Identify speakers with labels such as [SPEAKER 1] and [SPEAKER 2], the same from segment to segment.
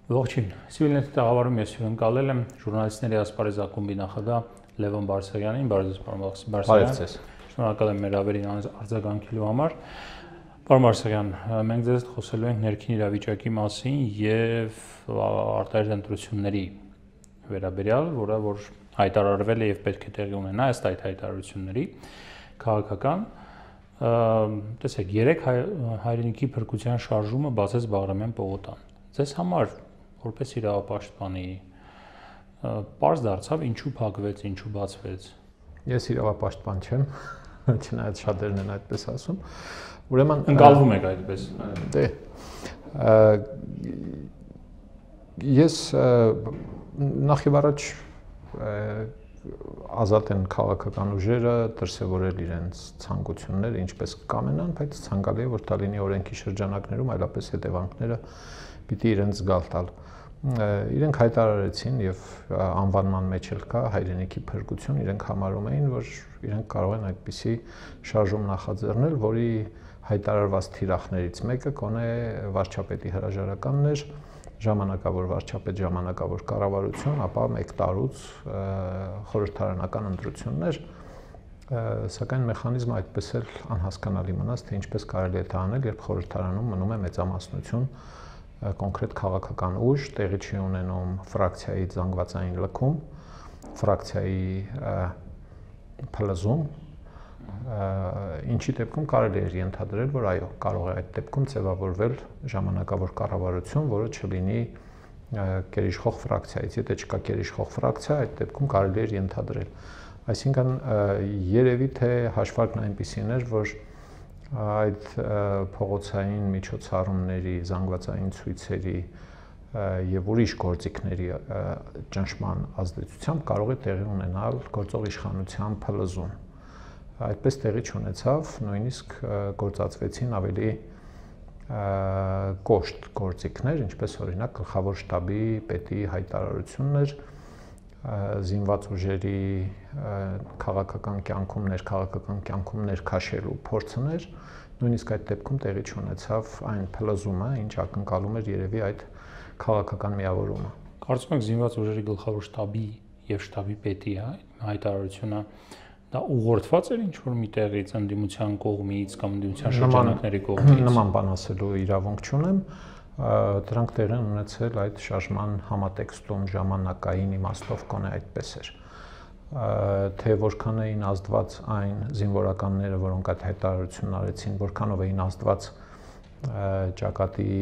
[SPEAKER 1] Ողջույն, Civilnet տաղավարում ես հյուրընկալել եմ ժուրնալիստների ասպարեզ ակումբի նախագահ Լևոն Բարսեղյանին, բարև ձեզ, պարոն Բարսեղյան։ Շնորհակալ եմ մեր ավերին արձագանքելու համար։ Պարոն Բարսեղյան, մենք ձեզ հետ խոսելու ենք ներքին իրավիճակի մասին եւ արտահերթ ընտրությունների վերաբերյալ, որ հայտարարվել է եւ պետք է տեղի ունենա ըստ այդ հայտարարությունների քաղաքական տեսեք, 3 հայրենիքի փրկության շարժումը բացեց Բաղրամյան պողոտան։ Ձեզ համար որպես իրավապաշտպանի պարզ դարձավ ինչու փակվեց, ինչու բացվեց։
[SPEAKER 2] Ես իրավապաշտպան չեմ, չնայած շատերն են այդպես ասում։ Ուրեմն
[SPEAKER 1] ընկալվում եք այդպես։
[SPEAKER 2] Դե ես նախ եւ առաջ ազատ են քաղաքական ուժերը դրսևորել իրենց ցանկությունները, ինչպես կամենան, բայց ցանկալի է, որ դա լինի օրենքի շրջանակներում, այլապես հետևանքները պիտի իրենց զգալ տալ։ Իրենք հայտարարեցին եւ անվանման մեջ էլ կա հայրենիքի փրկություն, իրենք համարում էին, որ իրենք կարող են այդպիսի շարժում նախաձեռնել, որի հայտարարված թիրախներից մեկը կոնե վարչապետի հրաժարականն էր, ժամանակավոր վարչապետ, ժամանակավոր կառավարություն, ապա 1 տարուց խորհրդարանական ընտրություններ, սակայն մեխանիզմը այդպես էլ անհասկանալի մնաց, թե ինչպես կարելի է դա անել, երբ խորհրդարանում մնում է մեծամասնություն կոնկրետ քաղաքական ուժ, տեղի չի ունենում ֆրակցիայի զանգվածային լքում, ֆրակցիայի փլզում, ինչի դեպքում կարելի է ենթադրել, որ այո, կարող է այդ դեպքում ձևավորվել ժամանակավոր կառավարություն, որը չլինի գերիշխող ֆրակցիայից, եթե չկա գերիշխող ֆրակցիա, այդ դեպքում կարելի է ենթադրել։ Այսինքն երևի թե հաշվարկն այնպիսին էր, որ այդ փողոցային միջոցառումների, զանգվածային ցույցերի եւ ուրիշ գործիքների ճնշման ազդեցությամբ կարող է տեղի ունենալ գործող իշխանության փլզում։ Այդպես տեղի չունեցավ, նույնիսկ գործածվեցին ավելի կոշտ գործիքներ, ինչպես օրինակ գլխավոր շտաբի պետի հայտարարություններ, զինված ուժերի քաղաքական կյանքում, ներքաղաքական կյանքում ներքաշելու փորձներ, նույնիսկ այդ դեպքում տեղի չունեցավ այն փլզումը, ինչ ակնկալում էր երևի այդ քաղաքական միավորումը։
[SPEAKER 1] Կարծում եք զինված ուժերի գլխավոր շտաբի եւ շտաբի պետի հայտարարությունը դա ուղղորդված էր ինչ-որ միտեղից, ընդդիմության կողմից կամ ընդդիմության շրջանակների կողմից։
[SPEAKER 2] Նման բան ասելու իրավունք չունեմ, դրանք տեղի ունեցել այդ շարժման համատեքստում ժամանակային իմաստով կոնե այդպես էր։ Թե որքան էին ազդված այն զինվորականները, որոնք այդ հայտարարությունն արեցին, որքանով էին ազդված ճակատի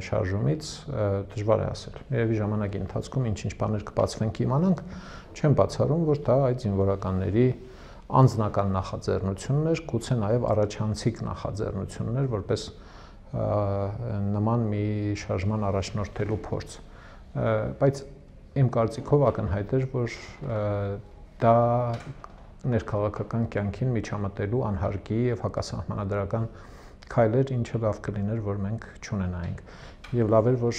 [SPEAKER 2] շարժումից, դժվար է ասել։ Երևի ժամանակի ընթացքում ինչ-ինչ բաներ կբացվեն կիմանանք, չեմ բացառում, որ դա այդ զինվորականների անձնական նախաձեռնություններ, գուցե նաև առաջանցիկ նախաձեռնություններ, որպես նման մի շարժման առաջնորդելու փորձ։ Բայց իմ կարծիքով ակնհայտ էր, որ դա ներքաղաքական կյանքին միջամտելու անհարկի եւ հակասահմանադրական քայլ էր, ինչը լավ կլիներ, որ մենք չունենայինք։ Եվ լավ էր, որ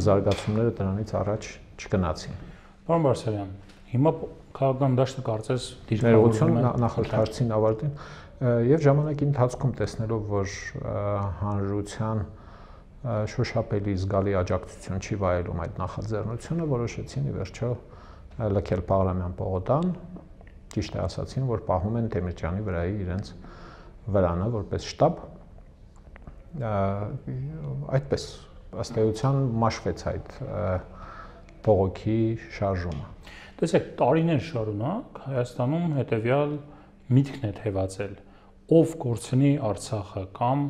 [SPEAKER 2] զարգացումները դրանից առաջ չգնացին։
[SPEAKER 1] Պարոն Բարսեղյան, հիմա քաղաքական դաշտը կարծես
[SPEAKER 2] դիրքավորություն նախորդ հարցին ավարտին եւ ժամանակի ընթացքում տեսնելով, որ հանրության շոշափելի զգալի աջակցություն չի վայելում այդ նախաձեռնությունը, որոշեցին ի վերջո լքել Բաղրամյան պողոտան, ճիշտ է ասացին, որ պահում են Դեմիրճյանի վրայի իրենց վրանը որպես շտաբ, այդպես ըստ էության մաշվեց այդ բողոքի շարժումը։
[SPEAKER 1] Տեսեք, տարիներ շարունակ Հայաստանում հետևյալ միտքն է թևածել, ով կորցնի Արցախը կամ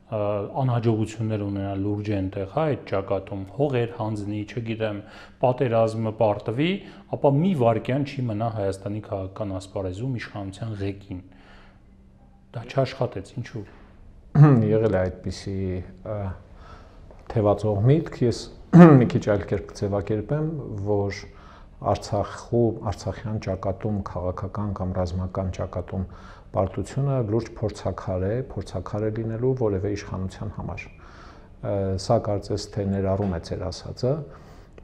[SPEAKER 1] անհաջողություններ ունենա լուրջ այնտեղ, այդ ճակատում հողեր հանձնի, չգիտեմ, պատերազմը պարտվի, ապա մի վայրկյան չի մնա Հայաստանի քաղաքական ասպարեզում իշխանության ղեկին։ Դա չաշխատեց, ինչու։
[SPEAKER 2] Եղել է այդպիսի թևածող միտք, ես մի քիչ այլ կերպ կձևակերպեմ, որ Արցախյան ճակատում քաղաքական կամ ռազմական ճակատում պարտությունը լուրջ փորձաքար է լինելու որևէ իշխանության համար։ Սա կարծես թե ներառում է ձեր ասածը,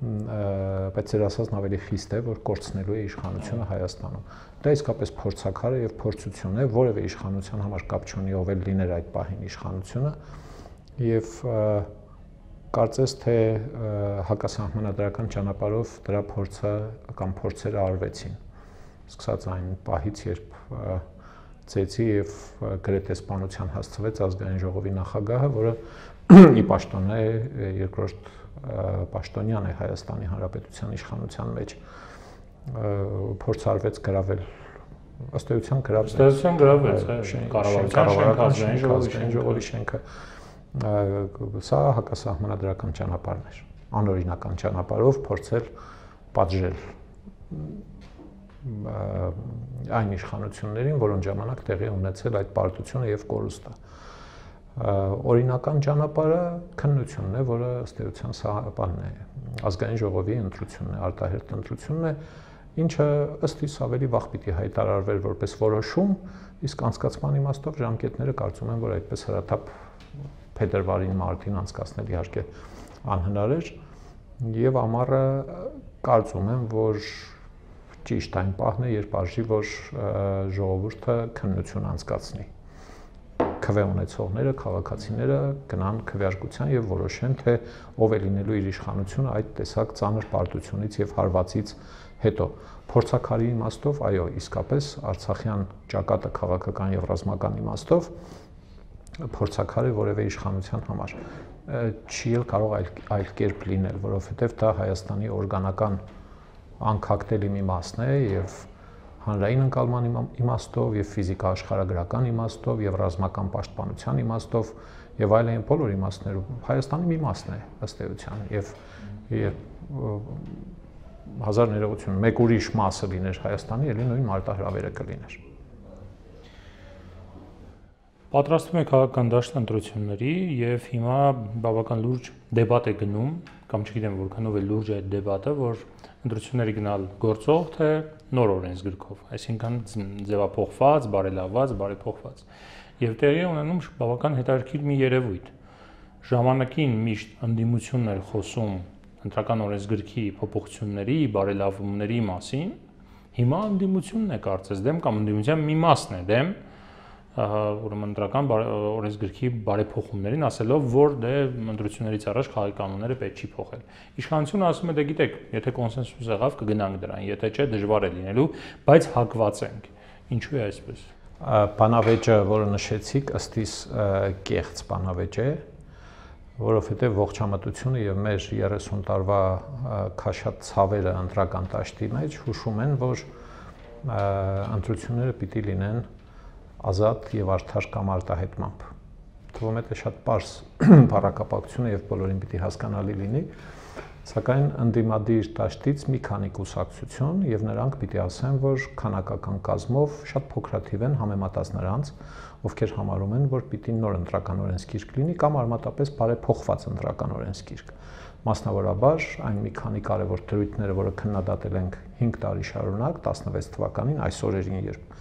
[SPEAKER 2] բայց ձեր ասածն ավելի խիստ է, որ կորցնելու է իշխանությունը Հայաստանում։ Դա իսկապես փորձաքար է եւ փորձություն է, որևէ իշխանության համար կապ չունի ով էլ լիներ այդ պահին իշխանությունը, եւ Կարծես թե հակասահմանադրական ճանապարհով դրա փորձը կամ փորձերը արվեցին։ Սկսած այն պահից, երբ ծեծի եւ գրեթե սպանության հասցվեց ազգային ժողովի նախագահը, որը ի պաշտոնե երկրորդ պաշտոնյան է Հայաստանի Հանրապետության իշխանության մեջ, փորձ արվեց գրավել, ըստ էության
[SPEAKER 1] գրավեց կառավարության
[SPEAKER 2] ազգային ժողովի շենքը։ Սա հակասահմանադրական ճանապարհն էր, անօրինական ճանապարհով փորձել պատժել այն իշխանություններին, որոնց ժամանակ տեղի ունեցել այդ պարտությունը եւ կորուստը։ Օրինական ճանապարհը քննությունն է, որը ըստ էության սա բանն է, ազգային ժողովի ընտրությունն է, արտահերթ ընտրությունն է, ինչը ըստ իս ավելի վաղ պիտի հայտարարվեր որպես որոշում, իսկ անցկացման իմաստով ժամկետները կարծում եմ, որ այդպես հրաթափ փետրվարին մարտին անցկացնել իհարկե անհնար էր եւ ամառը կարծում եմ, որ ճիշտ այն պահն է, երբ արժի, որ ժողովուրդը քննություն անցկացնի։ Քվե ունեցողները, քաղաքացիները գնան քվեարկության եւ որոշեն, թե ով է լինելու իր իշխանությունը այդ տեսակ ծանր պարտությունից եւ հարվածից հետո։ Փորձաքարի իմաստով, այո, իսկապես Արցախյան ճակատը քաղաքական եւ ռազմական իմաստով փորձաքար է որևէ իշխանության համար։ Չի էլ կարող այլ կերպ լինել, որովհետեւ դա Հայաստանի օրգանական անկախտելի մի մասն է եւ հանրային ընկալման իմաստով եւ ֆիզիկա աշխարհագրական իմաստով եւ ռազմական պաշտպանության իմաստով եւ այլն բոլոր իմաստներով Հայաստանի մի մասն է ըստ էության եւ հազար ներողություն մեկ ուրիշ մասը լիներ Հայաստանի, ելի նույն մարտահրավերը կլիներ։
[SPEAKER 1] Պատրաստվում է քաղաքական դաշտ ընտրությունների եւ հիմա բավական լուրջ դեբատ է գնում, կամ չգիտեմ որքանով է լուրջ այդ դեբատը, որ ընտրությունների գնալ գործող թե նոր օրենսգրքով, այսինքն ձևափոխված, բարելավված, բարեփոխված։ Եվ տեղի ունենում բավական հետաքրքիր մի երևույթ։ Ժամանակին միշտ ընդդիմությունն էր խոսում ընտրական օրենսգրքի փոփոխությունների, բարելավումների մասին, հիմա ընդդիմությունն է կարծես դեմ կամ ընդդիմության մի մասն է դեմ ուրեմն ընտրական օրենսգրքի բարեփոխումներին, ասելով, որ դե ընտրություններից առաջ խաղի կանոնները պետք չի փոխել։ Իշխանությունը ասում է, դե գիտեք, եթե կոնսենսուս եղավ, կգնանք դրան, եթե չէ, դժվար է լինելու, բայց հակված ենք։ Ինչու է այսպես։
[SPEAKER 2] Բանավեճը, որը նշեցիք, ըստ իս կեղծ բանավեճ է, որովհետև ողջամտությունը եւ մեր 30 տարվա քաշած ցավերը ընտրական դաշտի մեջ հուշում են, որ ընտրությունները պիտի լինեն ազատ եւ արդար կամ արտահայտմամբ։ Թվում է թե շատ պարզ բառակապակցություն եւ բոլորին պիտի հասկանալի լինի, սակայն ընդդիմադիր դաշտից մի քանի կուսակցություն եւ նրանք պիտի ասեն, որ քանակական կազմով շատ փոքրաթիվ են համեմատած նրանց, ովքեր համարում են, որ պիտի նոր ընտրական օրենսգիրք լինի կամ արմատապես բարեփոխված ընտրական օրենսգիրք։ Մասնավորաբար այն մի քանի կարևոր դրույթները, որը քննադատել ենք 5 տարի շարունակ, 16 թվականին, այս օրերին, երբ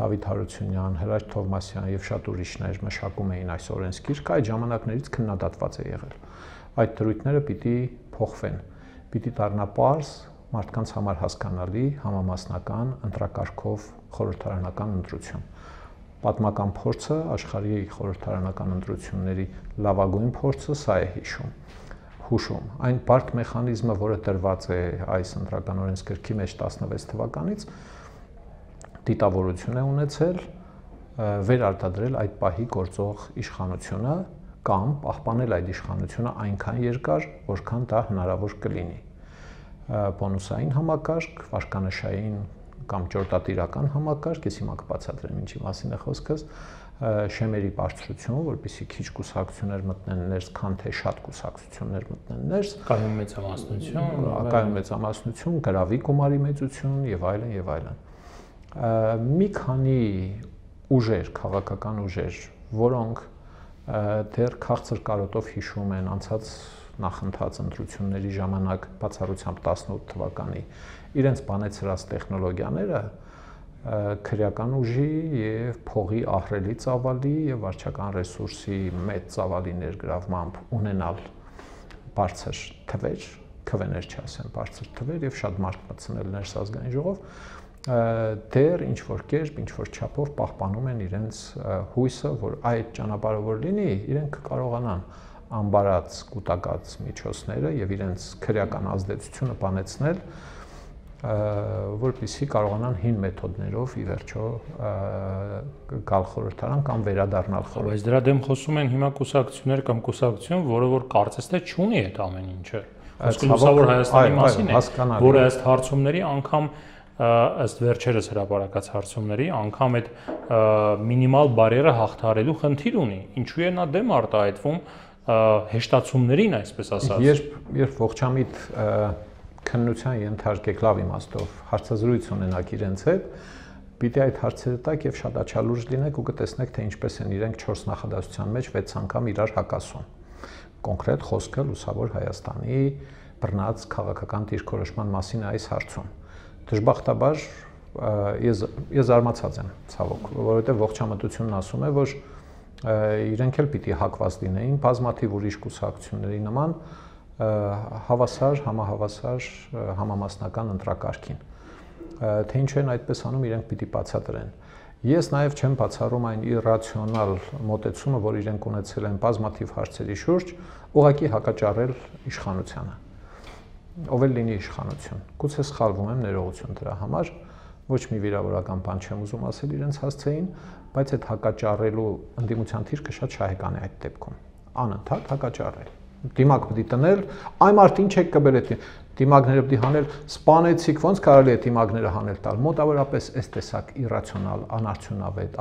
[SPEAKER 2] Դավիթ Հարությունյան, Հրաչ Թովմասյան եւ շատ ուրիշներ մշակում էին այս օրենսգիրքը, այդ ժամանակներից քննադատված է եղել։ Այդ դրույթները պիտի փոխվեն, պիտի դառնա պարզ, մարդկանց համար հասկանալի, համամասնական, ընտրակարգով խորհրդարանական ընտրություն։ Պատմական փորձը, աշխարհի խորհրդարանական ընտրությունների լավագույն փորձը սա է հուշում։ Այն բարդ մեխանիզմը, որը տրված է այս ընտրական օրենսգրքի մեջ 16 թվականից, դիտավորություն է ունեցել վերարտադրել այդ պահի գործող իշխանությունը կամ պահպանել այդ իշխանությունը այնքան երկար, որքան դա հնարավոր կլինի։ Բոնուսային համակարգ, վարկանշային կամ ճորտատիրական համակարգ, ես հիմա կբացատրեմ ինչի մասին է խոսքս, շեմերի բարձրություն, որպեսզի քիչ կուսակցություններ մտնեն ներս, քան թե շատ կուսակցություններ մտնեն ներս,
[SPEAKER 1] կայուն
[SPEAKER 2] մեծամասնություն, գրավի գումարի մեծություն եւ այլն եւ այլն։ Մի քանի ուժեր, քաղաքական ուժեր, որոնք դեռ քաղցր կարոտով հիշում են անցած նախընթաց ընտրությունների ժամանակ բացառությամբ 18 թվականի իրենց բանեցրած տեխնոլոգիաները քրեական ուժի եւ փողի ահռելի ծավալի եւ վարչական ռեսուրսի մեծ ծավալի ներգրավմամբ ունենալ բարձր թվեր, քվեներ չասեմ, բարձր թվեր եւ շատ մարդ մտցնել ներս ազգային ժողով, դեռ ինչ որ կերպ, ինչ որ չափով պահպանում են իրենց հույսը, որ այդ ճանապարհը որ լինի, իրենք կկարողանան ամբարած կուտակած միջոցները եւ իրենց քրեական ազդեցությունը բանեցնել, որպեսզի կարողանան հին մեթոդներով ի վերջո գալ խորհրդարան կամ վերադառնալ խորհրդարան։
[SPEAKER 1] Բայց դրա դեմ խոսում են հիմա կուսակցություններ կամ կուսակցություն, որը որ կարծես թե չունի այդ ամեն ինչը։ Լուսավոր Հայաստանի մասին է, որը ըստ հարցումների անգամ ըստ վերջերս հրապարակած հարցումների անգամ այդ մինիմալ բարերը հաղթարելու խնդիր ունի։ Ինչու է նա դեմ արտահայտվում հեշտացումներին, այսպես ասած։
[SPEAKER 2] Երբ ողջամիտ քննության ենթարկեք լավ իմաստով հարցազրույց ունենաք իրենց հետ, պիտի այդ հարցերը տակ եւ շատ աչալուրջ լինեք ու կտեսնեք թե ինչպես են իրենք 4 նախադասության մեջ 6 անգամ իրար հակասում։ Կոնկրետ խոսքը Լուսավոր Հայաստանի բռնած քաղաքական դիրքորոշման մասին այս հարցում։ Դժբախտաբար ես զարմացած եմ ցավոք, որովհետեւ ողջամտությունն ասում է, որ իրենք էլ պիտի հակված լինեին բազմաթիվ ուրիշ կուսակցությունների նման հավասար, համահավասար, համամասնական ընտրակարգին։ Թե ինչու են այդպես անում, իրենք պիտի բացատրեն։ Ես նաև չեմ բացառում այն իրացիոնալ մոտեցումը, որ իրենք ունեցել են բազմաթիվ հարցերի շուրջ, ուղղակի հակաճառել իշխանությանը։ Ով էլ լինի իշխանություն։ Գուցե սխալվում եմ, ներողություն դրա համար, ոչ մի վիրավորական բան չեմ ուզում ասել իրենց հասցեին, բայց այդ հակաճառելու ընդդիմության թիրքը շատ շահեկան է այդ դեպքում։ Անընդհատ հակաճառել։ Դիմակ պիտի տնել, այ մարդ ինչ եք կբեր այդ դիմակները պիտի հանել, սպանեցիք, ոնց կարելի է դիմակները հանել տալ։ Մոտավորապես այս տեսակ իրացիոնալ, անարդյունավետ,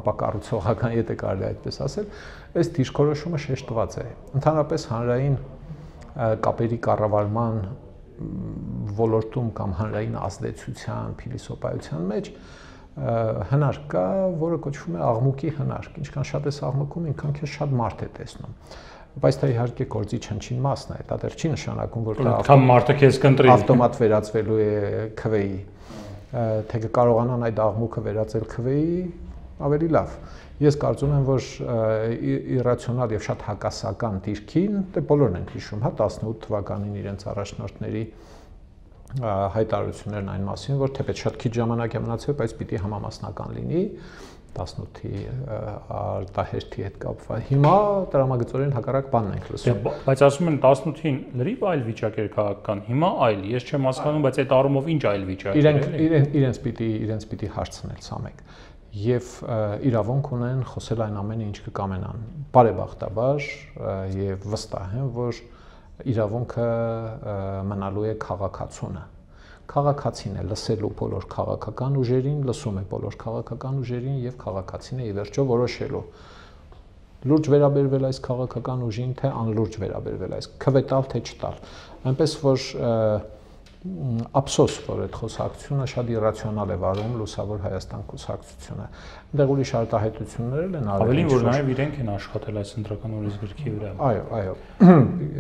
[SPEAKER 2] ապա կառուցողական, եթե կարելի է այդպես ասել, այս դիրքորոշումը շեշտված է։ Ընդհանրապես հանրային կապերի կառավարման ոլորտում կամ հանրային ազդեցության, փիլիսոփայության մեջ հնարք կա, որը կոչվում է աղմուկի հնարք։ Ինչքան շատ ես աղմկում, ինքան քեզ շատ մարդ է տեսնում։ Բայց դա իհարկե գործի չնչին մասն է, դա դեռ չի նշանակում, որ դա
[SPEAKER 1] մարդը քեզ կընտրի
[SPEAKER 2] ավտոմատ վերածվելու է քվեի, թե կկարողանան այդ աղմուկը վերածել քվեի, ավելի լավ։ Ես կարծում եմ, որ իրացիոնալ եւ շատ հակասական դիրքին, դե բոլորն են հիշում, հա 18 թվականին իրենց առաջնորդների հայտարարություններն այն մասին, որ թեպետ շատ քիչ ժամանակ է մնացել, բայց պիտի համամասնական լինի 18-ի արտահերթի հետ կապված։ Հիմա տրամագծորեն հակառակ բանն ենք լսում։
[SPEAKER 1] Բայց ասում են 18-ին լրիվ այլ վիճակ էր քաղաքական, հիմա այլ։ Ես չեմ հասկանում, բայց այդ առումով ինչ այլ վիճակ է։
[SPEAKER 2] Իրենց պիտի հարցնել սա մեկ։ Եվ իրավունք ունեն խոսել այն ամենը, ինչ կկամենան։ Բարեբախտաբար եւ վստահ եմ, որ իրավունքը մնալու է քաղաքացունը։ Քաղաքացին է լսելու բոլոր քաղաքական ուժերին, լսում է բոլոր քաղաքական ուժերին եւ քաղաքացին է ի վերջո որոշելու։ Լուրջ վերաբերվել այս քաղաքական ուժին, թե անլուրջ վերաբերվել այս, քվետալ թե չտալ։ Այնպես որ ափսոս, որ այդ խոսակցությունը շատ իրացիոնալ է վարում Լուսավոր Հայաստան կուսակցությունը։ Այնտեղ ուրիշ արտահայտություններ են արվել։
[SPEAKER 1] Ավելին որ նաև իրենք են աշխատել այս ընտրական օրենսգրքի վրա։
[SPEAKER 2] Այո։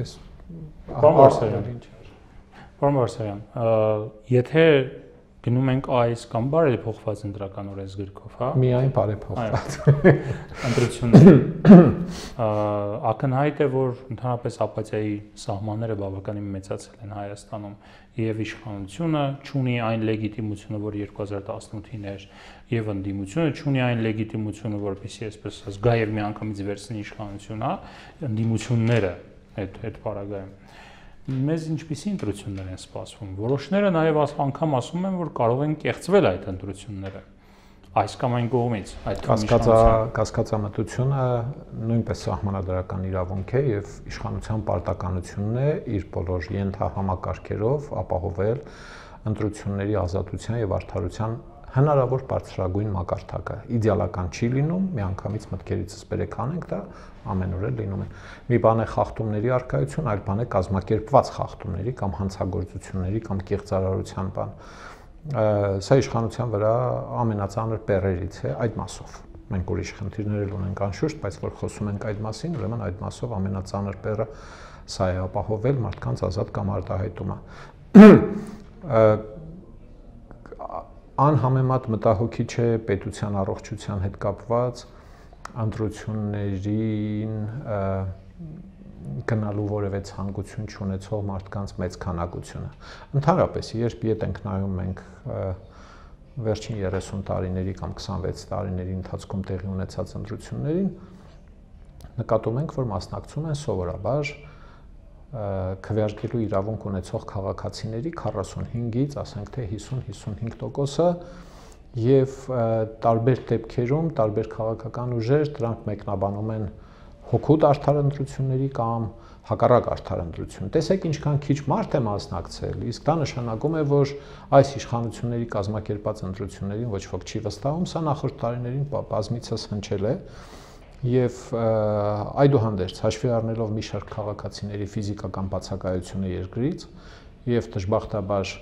[SPEAKER 2] Ես
[SPEAKER 1] Պարոն Բարսեղյան, եթե գնում ենք այս կամ բարեփոխված ընտրական օրենսգրքով, հա։
[SPEAKER 2] Միայն բարեփոխված։
[SPEAKER 1] Ընտրությունները ակնհայտ է, որ ընդհանրապես ապաթիայի սահմանները բավականին մեծացել են Հայաստանում եւ իշխանությունը չունի այն լեգիտիմությունը, որ 2018-ին էր, եւ ընդդիմությունը չունի այն լեգիտիմությունը, որպեսզի այսպես ասած գա եւ միանգամից վերցնի իշխանություն, հա, ընդդիմությունները այդ պարագայում։ Մեզ ինչպիսի ընտրություններ են սպասվում։ Որոշները նաև անգամ ասում են, որ կարող են կեղծվել այդ ընտրությունները։ Այս կամ այն կողմից, այդ
[SPEAKER 2] կասկածամտությունը նույնպես սահմանադրական իրավունք է եւ իշխանության պարտականությունն է իր բոլոր ենթահամակարգերով ապահովել ընտրությունների ազատության եւ արդարության հնարավոր բարձրագույն մակարդակը։ Իդեալական չի լինում, միանգամից մտքերիցս բերեք անենք դա ամենուր էլ լինում են։ Մի բան է խախտումների առկայություն, այլ բան է կազմակերպված խախտումների կամ հանցագործությունների կամ կեղծարարության բան։ Սա իշխանության վրա ամենածանր բեռերից է այդ մասով։ Մենք ուրիշ խնդիրներ էլ ունենք անշուշտ, բայց որ խոսում ենք այդ մասին, ուրեմն այդ մասով ամենածանր բեռը սա է ապահովել մարդկանց ազատ կամ արտահայտումը։ Անհամեմատ մտահոգիչ է պետության առողջության հետ կապված ընտրություններին գնալու որևէ ցանկություն չունեցող մարդկանց մեծ քանակությունը։ Ընդհանրապես, երբ ետ ենք նայում մենք վերջին 30 տարիների կամ 26 տարիների ընթացքում տեղի ունեցած ընտրություններին, նկատում ենք, որ մասնակցում են սովորաբար քվեարկելու իրավունք ունեցող քաղաքացիների 45-ից, ասենք թե 50-55%-ը եւ տարբեր դեպքերում տարբեր քաղաքական ուժեր դրանք մեկնաբանում են հոգուտ արդարընտրությունների կամ հակառակ արդարընտրություն։ Տեսեք ինչքան քիչ մարդ է մասնակցել, իսկ դա նշանակում է, որ այս իշխանությունների կազմակերպած ընտրություններին ոչ ոք չի վստահում, սա նախորդ տարիներին բազմիցս հնչել է եւ այդուհանդերձ հաշվի առնելով մի շարք քաղաքացիների ֆիզիկական բացակայությունը երկրից եւ դժբախտաբար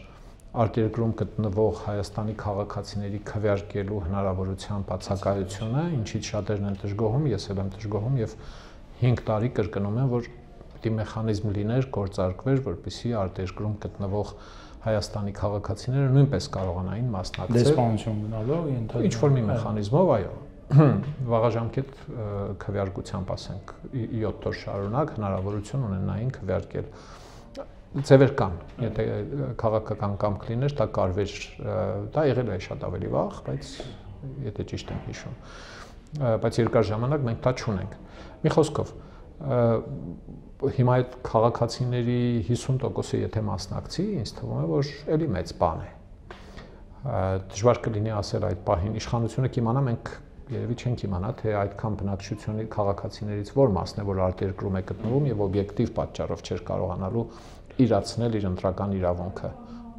[SPEAKER 2] արտերկրում գտնվող Հայաստանի քաղաքացիների քվեարկելու հնարավորության բացակայությունը, ինչից շատերն են դժգոհում, ես էլ եմ դժգոհում եւ 5 տարի կրկնում եմ, որ պիտի մեխանիզմ լիներ, գործարկվեր, որպեսզի արտերկրում գտնվող Հայաստանի քաղաքացիները նույնպես կարողանային մասնակցել
[SPEAKER 1] դեսպանություն գնալով
[SPEAKER 2] ինչ որ մի մեխանիզմով, այո, վաղաժամկետ քվեարկությամբ, ասենք 7 օր շարունակ հնարավորություն ունենային քվեարկել ձևեր կան, եթե քաղաքական կամք լիներ, դա կարվեր, դա եղել է շատ ավելի վաղ, բայց եթե ճիշտ եմ հիշում, բայց երկար ժամանակ մենք դա չունենք։ Մի խոսքով, հիմա այդ քաղաքացիների 50%-ը եթե մասնակցի, ինձ թվում է, որ էլի մեծ բան է։ Դժվար կլինի ասել այդ պահին իշխանությունը կիմանա, մենք երևի չենք իմանա, թե այդքան բնակչությունների քաղաքացիներից որ մասն է, որ արտերկրում է գտնվում եւ օբյեկտիվ պատճառով չէր կարողանալու իրացնել իր ընտրական իրավունքը։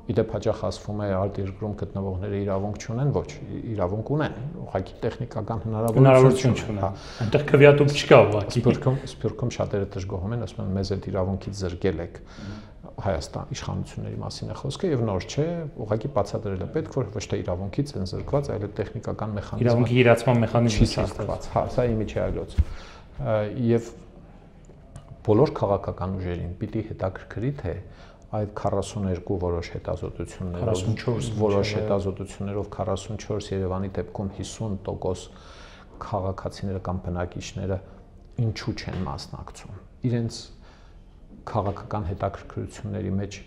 [SPEAKER 2] Իդեպ հաճախ ասվում է արտերկրում գտնվողները իրավունք չունեն, ոչ, իրավունք ունեն, ուղղակի տեխնիկական
[SPEAKER 1] հնարավորություն չունեն։ Այնտեղ քվեատուփ չկա ուղղակի։
[SPEAKER 2] Սփյուռքում շատերը դժգոհում են, ասում են մեզ այդ իրավունքից զրկել եք։ Հայաստան իշխանությունների մասին է խոսքը եւ նոր չէ, ուղղակի բացատրել է պետք, որ ոչ թե իրավունքից են զրկված, այլ տեխնիկական մեխանիզմ։
[SPEAKER 1] Իրավունքի իրացման մեխանիզմը չի
[SPEAKER 2] ստացված։ Հա, սա իմիջիայլոց։ Եվ բոլոր քաղաքական ուժերին պիտի հետաքրքրի, թե այդ 42 որոշ հետազոտություններով 44 Երևանի դեպքում 50% քաղաքացիները կամ բնակիչները ինչու չեն մասնակցում։ Իրենց քաղաքական հետաքրքրությունների մեջ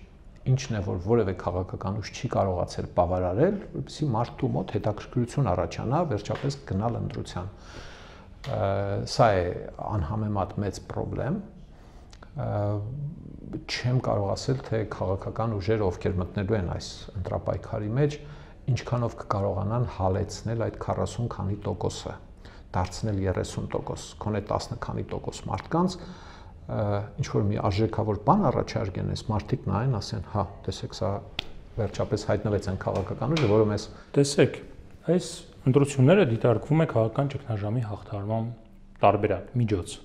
[SPEAKER 2] ինչն է, որ որևէ քաղաքական ուժ չի կարողացել բավարարել, որպեսզի մարդու մոտ հետաքրքրություն առաջանա վերջապես գնալ ընտրության։ Սա է անհամեմատ մեծ խնդրեմ։ Չեմ կարող ասել, թե քաղաքական ուժերը, ովքեր մտնելու են այս ընտրապայքարի մեջ, ինչքանով կկարողանան հալեցնել այդ 40 քանի տոկոսը, դարձնել 30%, քոնե 10 քանի տոկոս մարդկանց, ինչ որ մի արժեքավոր բան առաջարկեն, այս մարդիկ նայեն, ասեն, հա, տեսեք, սա վերջապես հայտնվեց այն քաղաքական ուժը, որը մեզ
[SPEAKER 1] տեսեք, այս ընտրությունները դիտարկվում է քաղաքական ճգնաժամի հաղթահարման տարբերակ, միջոց։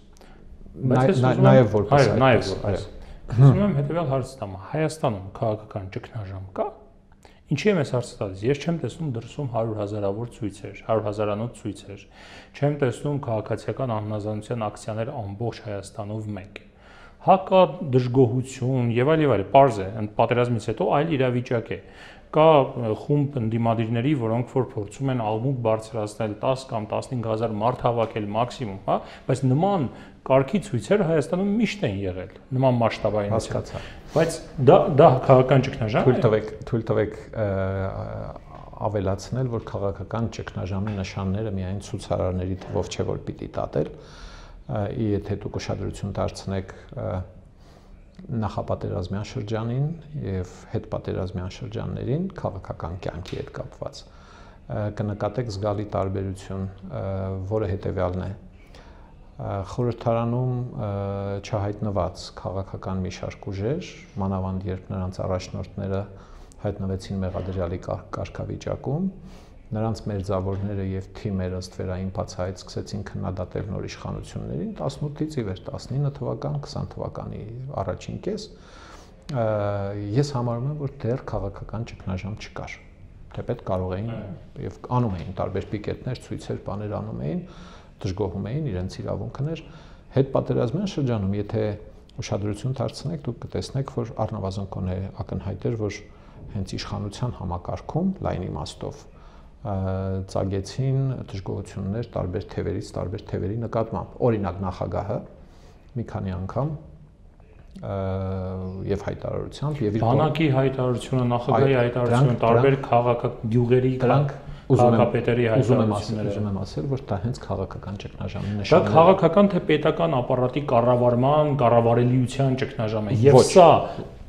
[SPEAKER 2] Նաև որպես
[SPEAKER 1] այո։ Ուզում եմ հետևյալ հարց տամ. Հայաստանում քաղաքական ճգնաժամ կա։ Ինչի եմ այս հարցը տալիս։ Ես չեմ տեսնում դրսում 100,000-ավոր ցույցեր, 100,000-անոց ցույցեր։ Չեմ տեսնում քաղաքացիական անհնազանդության ակցիաներ ամբողջ Հայաստանով մեկ։ Հա կա դժգոհություն եւ այլ, պարզ է, պատերազմից հետո այլ իրավիճակ է։ Կա խումբ ընդդիմադիրների, որոնք որ փորձում են աղմուկ բարձրացնել 10 կամ 15,000 մարդ հավաքել մաքսիմում, հա, բայց նման կարգի ցույցեր Հայաստանում միշտ են եղել, նման մասշտաբային։
[SPEAKER 2] Հասկացա։
[SPEAKER 1] Բայց դա քաղաքական ճգնաժամ է։
[SPEAKER 2] Թույլ տվեք ավելացնել, որ քաղաքական ճգնաժամի նշանները միայն ցուցարարների թվով չէ, որ պիտի տատել, եթե դուք ուշադրություն դարձնեք նախապատերազմյան շրջանին եւ հետպատերազմյան շրջաններին քաղաքական կյանքի հետ կապված կնկատեք զգալի տարբերություն, որը հետեւյալն է։ Խորհրդարանում չհայտնված քաղաքական մի շարք ուժեր, մանավանդ երբ նրանց առաջնորդները հայտնվեցին մեղադրյալի կարգավիճակում, նրանց մերձավորները եւ թիմերը ըստ վերային բացահայտ սկսեցին քննադատել նոր իշխանություններին 18-ից ի վեր 19 թվական, 20 թվականի առաջին կես, ես համարում եմ, որ դեռ քաղաքական ճգնաժամ չկար։ Թեպետ կարող էին եւ անում էին տարբեր պիկետներ, ցույցեր, բաներ անում էին, դժգոհում էին իրենց իրավունքներ։ Հետպատերազմյան շրջանում, եթե ուշադրություն դարձնեք, դուք կտեսնեք, որ առնվազն կոնե ակնհայտ էր, որ հենց իշխանության համակարգում լայն իմաստով ծագեցին դժգոհություններ տարբեր թևերից, տարբեր թևերի նկատմամբ։ Օրինակ նախագահը մի քանի անգամ եւ հայտարարությամբ եւ իր
[SPEAKER 1] բանակի հայտարարությունը, նախագահի հայտարարությունը, տարբեր քաղաքական գյուղերի քաղաքապետերի հայտարարությունները։
[SPEAKER 2] Ուզում եմ ասել, որ դա հենց քաղաքական ճգնաժամի
[SPEAKER 1] նշանն է։ Դա քաղաքական թե պետական ապարատի կառավարելիության ճգնաժամ է։ Եվ սա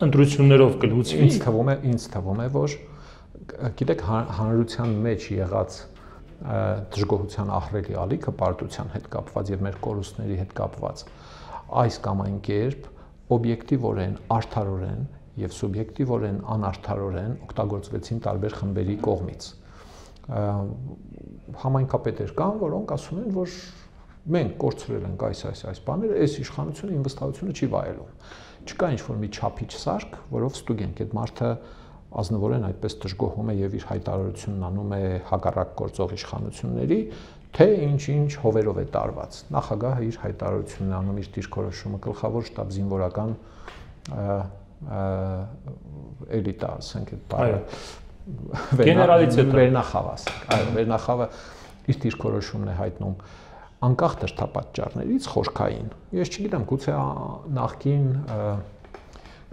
[SPEAKER 1] ընտրություններով կլուծվի։
[SPEAKER 2] Ինձ թվում է, որ գիտեք, հանրության մեջ եղած դժգոհության ահռելի ալիքը պարտության հետ կապված եւ մեր կորուստների հետ կապված այս կամ այն կերպ օբյեկտիվորեն, արդարորեն եւ սուբյեկտիվորեն անարդարորեն օգտագործվեցին տարբեր խմբերի կողմից։ Համայնքապետեր կան, որոնք ասում են, որ մենք կորցրել ենք այս բաները, այս իշխանությունը իմ վստահությունը չի վայելում։ Չկա ինչ-որ մի չափիչ սարք, որով ստուգենք այդ մարդը ազնվորեն այդպես դժգոհում է եւ իր հայտարարությունն անում է հակառակ գործող իշխանությունների, թե ինչ-ինչ հովերով է տարված։ Նախագահը իր հայտարարությունն անում, իր դիրքորոշումը, գլխավոր շտաբ զինվորական էլիտա, ասենք այդ բառը
[SPEAKER 1] գեներալիցիա
[SPEAKER 2] վերնախավ ասենք, այո, վերնախավը իր դիրքորոշումն է հայտնում անկախ դրդապատճառներից խորքային։ Ես չգիտեմ, գուցե նախկին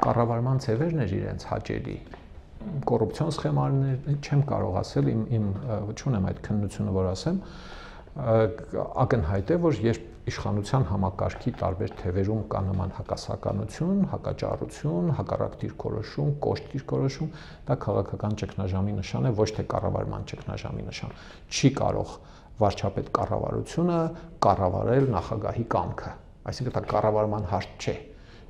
[SPEAKER 2] կառավարման ձևերն էր իրենց հաճելի, կոռուպցիոն սխեմաներ չեմ կարող ասել, իմ չունեմ այդ քննությունը, որ ասեմ, ակնհայտ է, որ երբ իշխանության համակարգի տարբեր թևերում կա նման հակասականություն, հակաճառություն, հակառակ դիրքորոշում, կոշտ դիրքորոշում, դա քաղաքական ճգնաժամի նշան է, ոչ թե կառավարման ճգնաժամի նշան։ Չի կարող վարչապետ կառավարությունը կառավարել նախագահի կամքը, այսինքն դա կառավարման հարց չէ։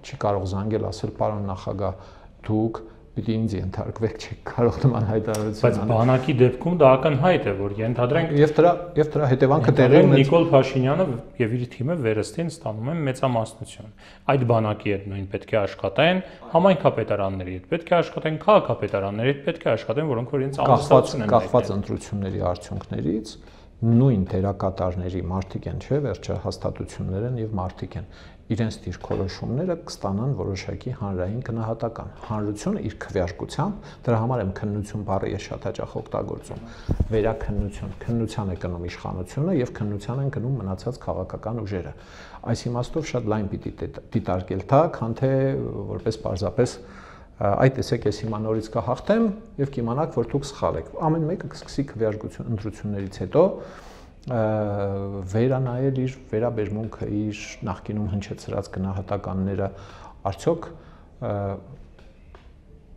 [SPEAKER 2] Չի կարող զանգել ասել պարոն նախագահ, դուք պիտի ինձ ենթարկվեք, չեք կարող նման հայտարարություն
[SPEAKER 1] անել։ Բայց բանակի դեպքում դա ակնհայտ է, որ ենթադրենք
[SPEAKER 2] եւ դրա հետևանքը տեղի ունեցել
[SPEAKER 1] Նիկոլ Փաշինյանը եւ իր թիմը վերստին ստանում են մեծամասնություն։ Այդ բանակի հետ նույն պետք է աշխատեն, համայնքապետարանների հետ պետք է աշխատեն, քաղաքապետարանների հետ պետք է աշխատեն, որոնք որ իրենց անվստահություն են
[SPEAKER 2] կախված ընտրությունների արդյունքներից նույն դերակատարների մարդիկ են, չէ՞, վերջը հաստատություններ են եւ մարդիկ են։ Իրենց դիրքորոշումները կստանան որոշակի հանրային գնահատական։ Հանրությունը իր քվեարկությամբ, դրա համար եմ քննություն բառը ես շատ հաճախ օգտագործում, վերաքննություն, քննության է գնում իշխանությունը եւ քննության են գնում մնացած քաղաքական ուժերը։ Այս իմաստով շատ լայն պիտի դիտարկել դա, քան թե որպես պարզապես այ տեսեք, ես հիմա նորից կհաղթեմ եւ կիմանաք, որ դուք սխալ եք։ Ամեն մեկը կսկսի քվեարկություն ընտրություններից հետո վերանայել իր վերաբերմունքը, իր նախկինում հնչեցրած գնահատականները, արդյոք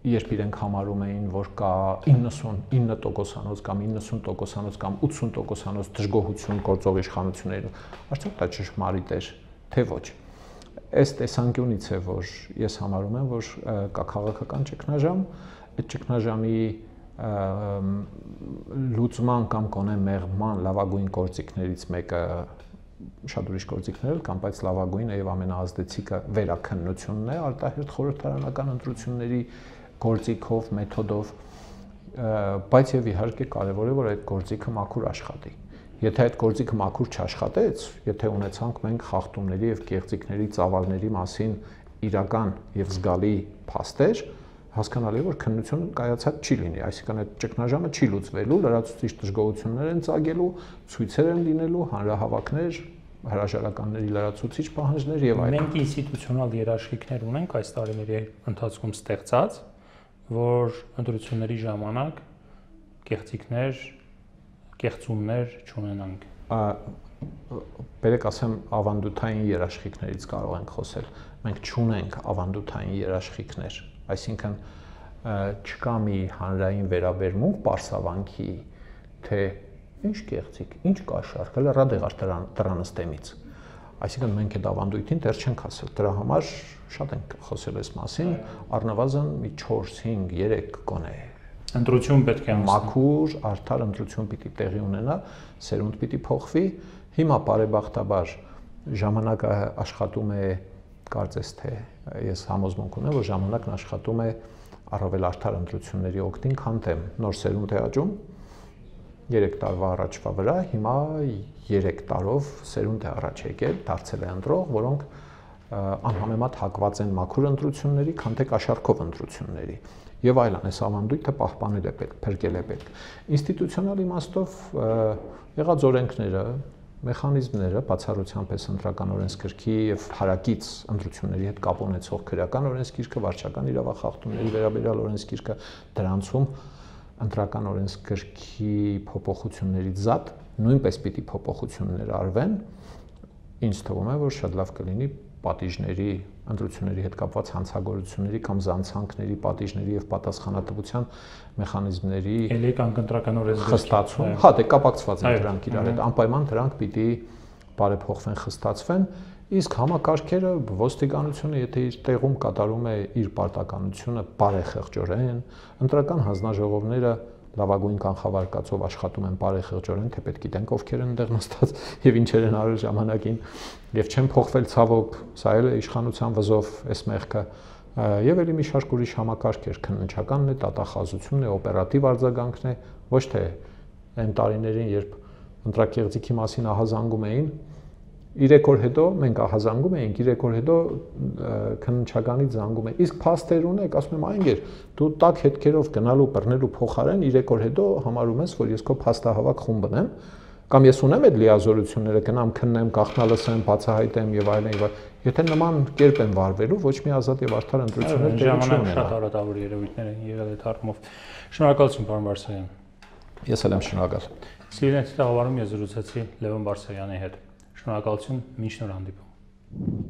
[SPEAKER 2] երբ իրենք համարում էին, որ կա 99% կամ 90% կամ 80% դժգոհություն գործող իշխանություններում, արդյոք դա ճշմարիտ էր, թե ոչ։ Այս տեսանկյունից է, որ ես համարում եմ, որ կա քաղաքական ճգնաժամ, այդ ճգնաժամի լուծման կամ կոնե մեղման լավագույն գործիքներից մեկը շատ ուրիշ գործիքներ կան, բայց լավագույնը եւ ամենաազդեցիկը վերաքննությունն է, արտահերթ խորհրդարանական ընտրությունների գործիքով, մեթոդով, բայց եւ իհարկե կարեւոր է, որ այդ գործիքը մաքուր աշխատի։ Եթե այդ գործիքը մաքուր չաշխատեց, եթե ունեցանք մենք խախտումների եւ կեղծիքների ծավալների մասին իրական եւ զգալի փաստեր, հասկանալի է, որ քննություն կայացած չի լինի, այսինքն այդ ճգնաժամը չի լուծվելու, լրացուցիչ դժգոհություններ են ծագելու, ցույցեր են լինելու, հանրահավաքներ, հրաժարականների լրացուցիչ պահանջներ եւ այլն։
[SPEAKER 1] Մենք ինստիտուցիոնալ երաշխիքներ ունենք այս տարիների ընթացքում ստեղծած, որ ընտրությունների ժամանակ կեղծիքներ, կեղծումներ չունենանք։
[SPEAKER 2] Բերեք ասեմ, ավանդութային երաշխիքներից կարող ենք խոսել։ Մենք չունենք ավանդութային երաշխիքներ, այսինքն չկա մի հանրային վերաբերմունք պարսավանքի, թե ինչ կեղծիք, ինչ կաշառք, հələ ռադեղար դրանստեմից։ Այսինքն մենք այդ ավանդույթին դեռ չենք ասել։ Դրա համար շատ ենք խոսել այս մասին, առնվազն մի 4, 5, 3 կոնե
[SPEAKER 1] ընտրություն պետք է
[SPEAKER 2] մաքուր, արդար ընտրություն պիտի տեղի ունենա, սերունդ պիտի փոխվի։ Հիմա բարեբախտաբար ժամանակը աշխատում է, կարծես թե ես համոզմունք ունեմ, որ ժամանակն աշխատում է առավել արդար ընտրությունների օգտին, քան թե նոր սերունդ է աճում 3 տարվա առաջվա վրա, հիմա 3 տարով սերունդ է առաջ եկել, դարձել է ընտրող, որոնք անհամեմատ հակված են մաքուր ընտրությունների, քան թե կաշառքով ընտրությունների։ Եվ այլն, այս ավանդույթը պահպանել է պետք, փրկել է պետք։ Ինստիտուցիոնալ իմաստով եղած օրենքները, մեխանիզմները, բացառությամբ այս ընտրական օրենսգրքի եւ հարակից ընտրությունների հետ կապ ունեցող քրեական օրենսգիրքը, վարչական իրավախախտումների վերաբերյալ օրենսգիրքը, դրանցում ընտրական օրենսգրքի փոփոխություններից զատ նույնպես պիտի փոփոխություններ արվեն, ինձ թվում է, որ շատ լավ կլինի պատիժների, ընտրությունների հետ կապված հանցագործությունների կամ զանցանքների, պատիժների եւ պատասխանատվության մեխանիզմների
[SPEAKER 1] ընտրական օրենսգրքի
[SPEAKER 2] խստացում, հա, դե կապակցված են դրանք իրար հետ, անպայման դրանք պիտի բարեփոխվեն, խստացվեն, իսկ համակարգերը ոստիկանությունը, եթե իր տեղում կատարում է իր պարտականությունը բարեխեղճորեն, ընտրական հանձնաժողովները լավագույն կանխավարկածով աշխատում են բարեխեղճորեն, թե պետք գիտենք ովքեր են այնտեղ նստած եւ ինչեր են արել ժամանակին եւ չեն փոխվել ցավոք, սա էլ է իշխանության վզով էս մեղքը եւ ելի մի շարք ուրիշ համակարգեր, քննչականն է, տատախազությունն է, օպերատիվ արձագանքն է, ոչ թե այն տարիներին, երբ ընտրակեղծիքի մասին ահազանգում էին 3 օր հետո մենք ահազանգում էինք, 3 օր հետո քննչականից զանգում են։ Իսկ փաստեր ունեք, ասում եմ, այնգեր, դու տակ հետքերով գնալու բռնելու փոխարեն 3 օր հետո համարում ես, որ ես քո փաստահավաք խումբն եմ, կամ ես ունեմ այդ լիազորությունները, գնամ քննեմ, գաղտնալսեմ, բացահայտեմ եւ այլն։ Եթե նման կերպ են վարվելու, ոչ մի ազատ եւ արդար ընտրություններ տեղի չունենա։
[SPEAKER 1] Շատ հարատավոր երևույթներ են եղել այդ առումով։ Շնորհակալություն, պարոն Բարսեղյան։
[SPEAKER 2] Ես էլ եմ շնորհակալ։
[SPEAKER 1] Սիրելի տաղավարում ես զրուցեցի Լևոն Բարսեղյանի հետ։ Շնորհակալություն, մինչ նոր հանդիպում։